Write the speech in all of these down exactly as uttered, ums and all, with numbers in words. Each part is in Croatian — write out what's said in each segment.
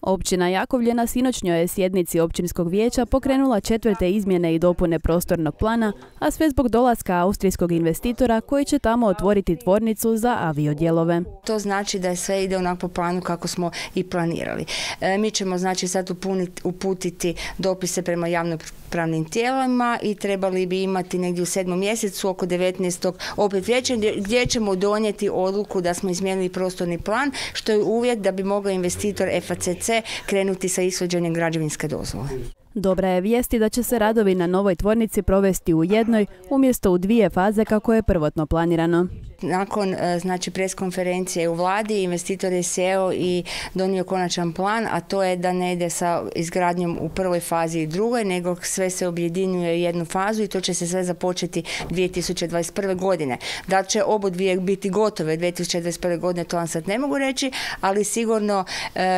Općina Jakovlje na sinoćnjoj sjednici općinskog vijeća pokrenula četvrte izmjene i dopune prostornog plana, a sve zbog dolaska austrijskog investitora koji će tamo otvoriti tvornicu za aviodijelove. To znači da sve ide onako po planu kako smo i planirali. E, mi ćemo znači sad upuniti, uputiti dopise prema javnopravnim tijelima i trebali bi imati negdje u sedmom mjesecu oko devetnaestog opet vijeća gdje ćemo donijeti odluku da smo izmijenili prostorni plan, što je uvjet da bi mogao investitor F A C C krenuti sa ishođenjem građevinske dozvole. Dobra je vijesti da će se radovi na novoj tvornici provesti u jednoj umjesto u dvije faze kako je prvotno planirano. Nakon znači pres konferencije u vladi investitor je sjeo i donio konačan plan, a to je da ne ide sa izgradnjom u prvoj fazi i drugoj, nego sve se objedinjuje u jednu fazu i to će se sve započeti dvije tisuće dvadeset prve. godine. Da će obodvije biti gotove dvije tisuće dvadeset prve. godine, to vam sad ne mogu reći, ali sigurno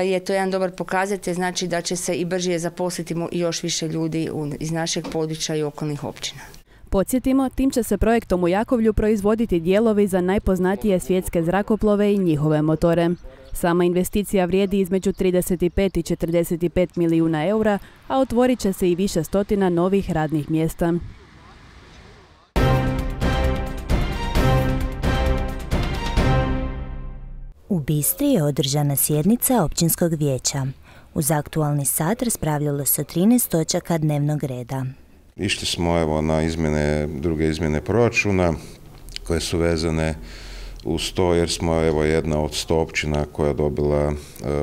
je to jedan dobar pokazatelj, znači da će se i brže zaposliti još više ljudi iz našeg područja i okolnih općina. Podsjetimo, tim će se projektom u Jakovlju proizvoditi dijelovi za najpoznatije svjetske zrakoplove i njihove motore. Sama investicija vrijedi između trideset pet i četrdeset pet milijuna eura, a otvorit će se i više stotina novih radnih mjesta. U Bistri je održana sjednica općinskog vijeća. Uz aktualni sat raspravljalo se o trinaest točaka dnevnog reda. Išli smo evo na izmjene, druge izmjene proračuna koje su vezane uz to jer smo evo jedna od sto općina koja je dobila uh,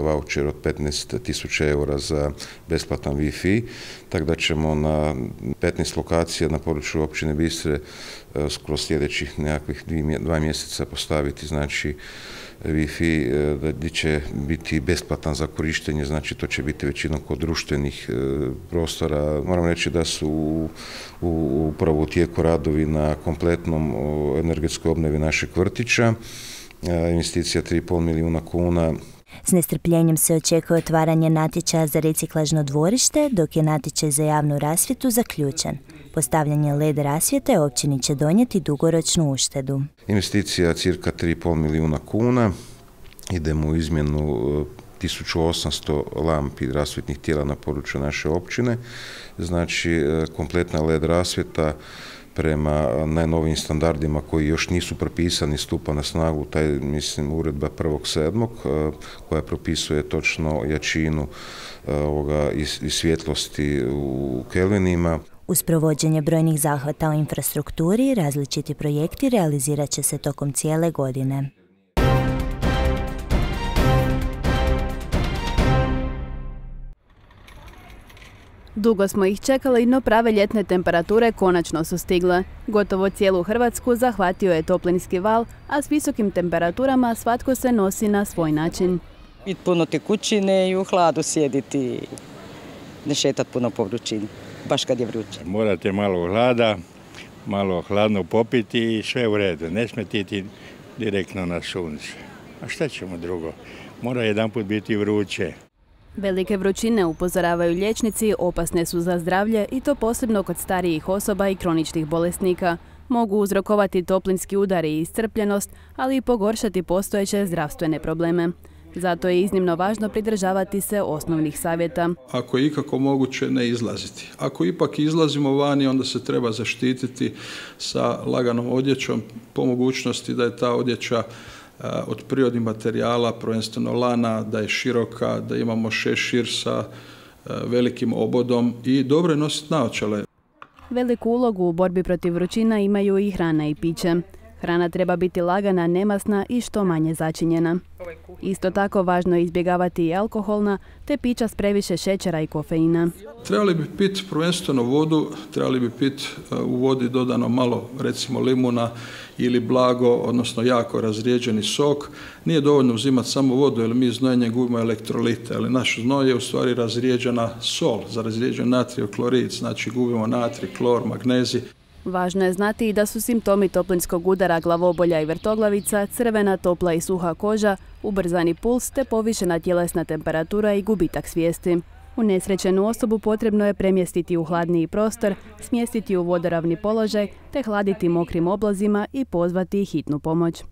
voucher od petnaest tisuća eura za besplatan Wi-Fi, tako da ćemo na petnaest lokacija na području općine Bistre uh, kroz sljedećih nekakvih dva mjeseca postaviti znači Wi-Fi gdje će biti besplatan za korištenje, znači to će biti većinom kod društvenih prostora. Moram reći da su u, upravo u tijeku radovi na kompletnom energetskoj obnovi našeg vrtića, investicija tri i pol milijuna kuna. S nestrpljenjem se očekuje otvaranje natječaja za reciklažno dvorište, dok je natječaj za javnu rasvjetu zaključen. Postavljanje L E D rasvjete općini će donijeti dugoročnu uštedu. Investicija cirka tri i pol milijuna kuna. Idemo u izmjenu tisuću osamsto lampi rasvjetnih tijela na području naše općine. Znači, kompletna L E D rasvjeta prema najnovijim standardima koji još nisu propisani stupa na snagu, taj mislim uredba prvog sedmog koja propisuje točno jačinu ovoga i, i svjetlosti u kelvinima. Uz provođenje brojnih zahvata u infrastrukturi, različiti projekti realizirat će se tokom cijele godine. Dugo smo ih čekali, no prave ljetne temperature konačno su stigle. Gotovo cijelu Hrvatsku zahvatio je toplinski val, a s visokim temperaturama svatko se nosi na svoj način. Pit puno tekućine i u hladu sjediti, ne šetat puno po vrućini, baš kad je vruće. Morate malo hlada, malo hladno popiti i sve u redu, ne smetiti direktno na sunce. A šta ćemo drugo? Mora jedanput biti vruće. Velike vrućine, upozoravaju liječnici, opasne su za zdravlje i to posebno kod starijih osoba i kroničnih bolesnika. Mogu uzrokovati toplinski udar i iscrpljenost, ali i pogoršati postojeće zdravstvene probleme. Zato je iznimno važno pridržavati se osnovnih savjeta. Ako je ikako moguće, ne izlaziti. Ako ipak izlazimo vani, onda se treba zaštititi sa laganom odjećom, po mogućnosti da je ta odjeća od prirodnih materijala, prvenstveno lana, da je široka, da imamo šešir sa velikim obodom i dobro je nositi naočale. Veliku ulogu u borbi protiv vrućina imaju i hrana i piće. Hrana treba biti lagana, nemasna i što manje začinjena. Isto tako važno je izbjegavati i alkoholna, te pića s previše šećera i kofeina. Trebali bi piti prvenstveno vodu, trebali bi piti u vodi dodano malo recimo limuna ili blago, odnosno jako razrijeđeni sok. Nije dovoljno uzimati samo vodu jer mi znojenjem gubimo elektrolite, ali naš znoj je u stvari razrijeđena sol, za razrijeđen natrijev klorid, znači gubimo natrij, klor, magnezij. Važno je znati i da su simptomi toplinskog udara glavobolja i vrtoglavica, crvena, topla i suha koža, ubrzani puls te povišena tjelesna temperatura i gubitak svijesti. Unesrećenu osobu potrebno je premjestiti u hladniji prostor, smjestiti u vodoravni položaj te hladiti mokrim oblazima i pozvati hitnu pomoć.